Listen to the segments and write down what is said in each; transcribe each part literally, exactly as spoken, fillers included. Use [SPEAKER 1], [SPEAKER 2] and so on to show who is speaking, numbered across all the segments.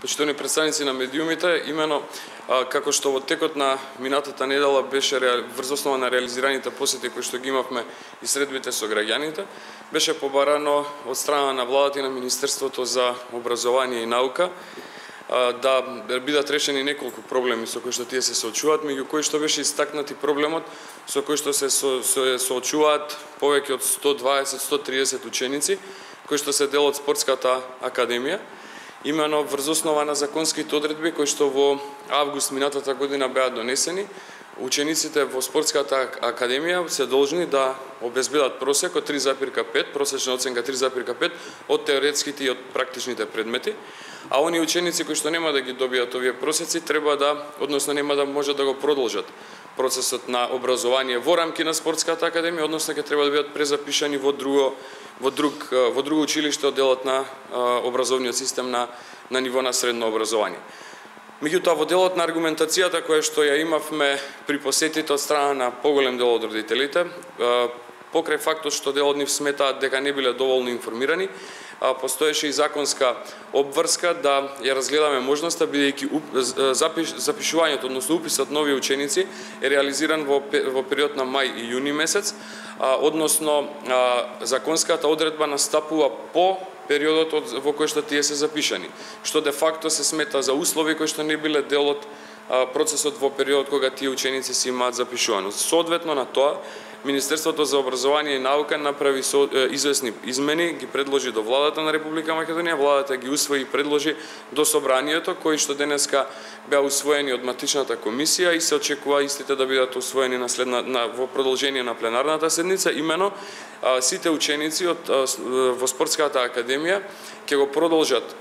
[SPEAKER 1] почитувани представници на медиумите, имено како што во текот на минатата недела беше врз основа на реализираните посети кои што ги имавме и средбите со граѓаните, беше побарано од страна на владата и на Министерството за образование и наука да бидат решени неколку проблеми со кои што тие се соочуваат, меѓу кои што беше истакнати проблемот со кој што се соочуваат повеќе од сто дваесет до сто триесет ученици кои што се дел од спортската академија, имено врз основа на законските одредби кои што во август минатата година беа донесени. Учениците во спортската академија се должни да обезбедат просек од три запирка пет, просечна оценка три запирка пет од теоретските и од практичните предмети, а оние ученици кои што нема да ги добијат овие просеци треба да, односно нема да можат да го продолжат процесот на образование во рамки на спортската академија, односно ќе треба да бидат презапишани во друго во друг во друго училиште од делот на образовниот систем на на ниво на средно образование. Меѓутоа, во делот на аргументацијата која што ја имавме при посетите од страна на поголем дел од родителите, покрај фактот што дел од нив сметаат дека не биле доволно информирани, постоеше и законска обврска да ја разгледаме можноста, бидејќи запишувањето, односно уписот нови ученици е реализиран во во период на мај и јуни месец, односно законската одредба настапува по периодот во кој што тие се запишани, што де факто се смета за услови кои што не биле дел од процесот во периодот кога тие ученици се имаат запишувано. Соодветно на тоа, Министерството за образование и наука направи известни измени, ги предложи до владата на Република Македонија, владата ги усвои и предложи до собранието, кои што денеска беа усвоени од матичната комисија и се очекува истите да бидат усвоени на следна на во продолжение на пленарната седница. Имено сите ученици од во спортската академија ќе го продолжат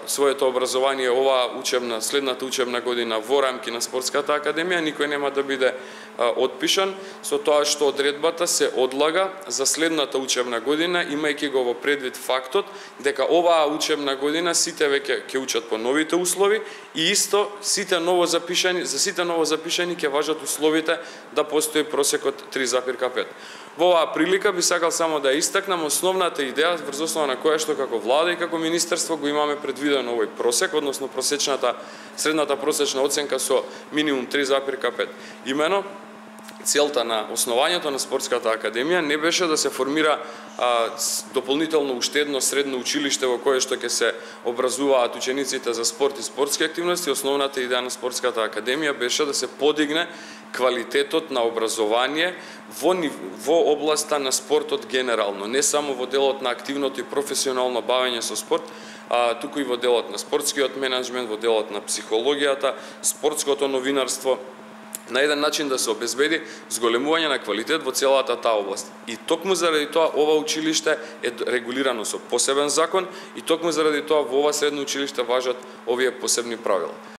[SPEAKER 1] своето образование оваа учебна, следната учебна година во рамки на спортската академија, никој нема да биде отпишан, со тоа што одредбата се одлага за следната учебна година, имајќи го во предвид фактот дека оваа учебна година сите веќе ќе учат по новите услови и исто сите ново запишани, за сите ново запишани ќе важат условите да постои просекот три запирка пет. Во оваа прилика би сакал само да истакнам основната идеја врз основа на која што како влада и како министерство го имаме предвидено овој просек, односно просечната средната просечна оценка со минимум три запирка пет. Имено целта на основањето на спортската академија не беше да се формира а, дополнително уште едно средно училиште во кое што ќе се образуваат учениците за спорт и спортски активности. Основната идеја на спортската академија беше да се подигне квалитетот на образование во, во областа на спортот генерално, не само во делот на активното и професионално бавење со спорт, а туку и во делот на спортскиот менеджмент, во делот на психологијата, спортското новинарство, на еден начин да се обезбеди зголемување на квалитет во целата таа област. И токму заради тоа ова училиште е регулирано со посебен закон и токму заради тоа во ова средно училиште важат овие посебни правила.